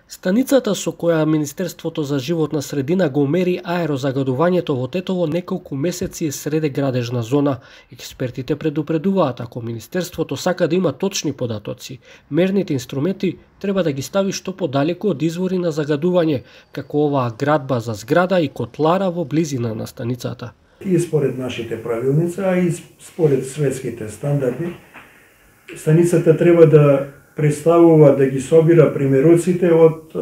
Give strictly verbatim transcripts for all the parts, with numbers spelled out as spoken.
Станицата со која Министерството за животна средина го мери аерозагадувањето во Тетово неколку месеци е среде градежна зона. Експертите предупредуваат, ако Министерството сака да има точни податоци, мерните инструменти треба да ги стави што подалеку од извори на загадување, како оваа градба за зграда и котлара во близина на станицата. И според нашите правилници, а и според светските стандарди, станицата треба да представува да ги собира примероците од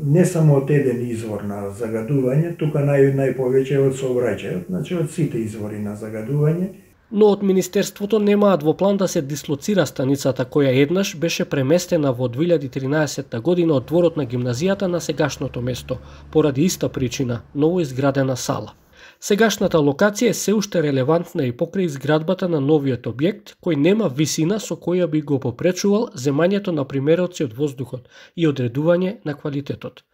не само од еден извор на загадување, тука нај најповеќе од сообраќајот, значи од сите извори на загадување. Но од Министерството немаат во план да се дислоцира станицата која еднаш беше преместена во две илјади и тринаесетта година од дворот на гимназијата на сегашното место, поради иста причина – ново изградена сала. Сегашната локација е се уште релевантна и покрај изградбата на новиот објект, кој нема висина со која би го попречувал земањето на примероци од воздухот и одредување на квалитетот.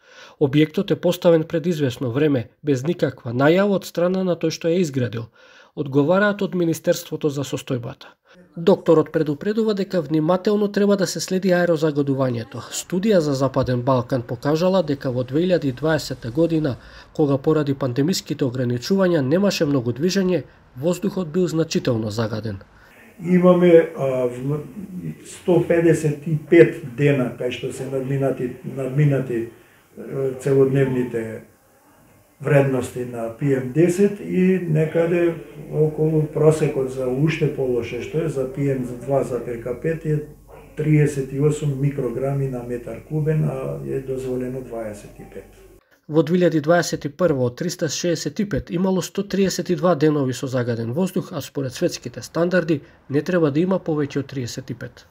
Објектот е поставен пред извесно време, без никаква најава од страна на тој што ја изградил, одговараат од Министерството за состојбата. Докторот предупредува дека внимателно треба да се следи аерозагадувањето. Студија за Западен Балкан покажала дека во две илјади и дваесетта година, кога поради пандемиските ограничувања немаше многу движење, воздухот бил значително загаден. Имаме а, сто педесет и пет дена кај што се надминати, надминати целодневните вредности на пи ем десет и некаде околу просекот за уште полоше што е за пи ем два запирка пет е триесет и осум микрограми на метар кубен, а е дозволено дваесет и пет. Во две илјади дваесет и прва од триста шеесет и пет имало сто триесет и два денови со загаден воздух, а според светските стандарди не треба да има повеќе од триесет и пет.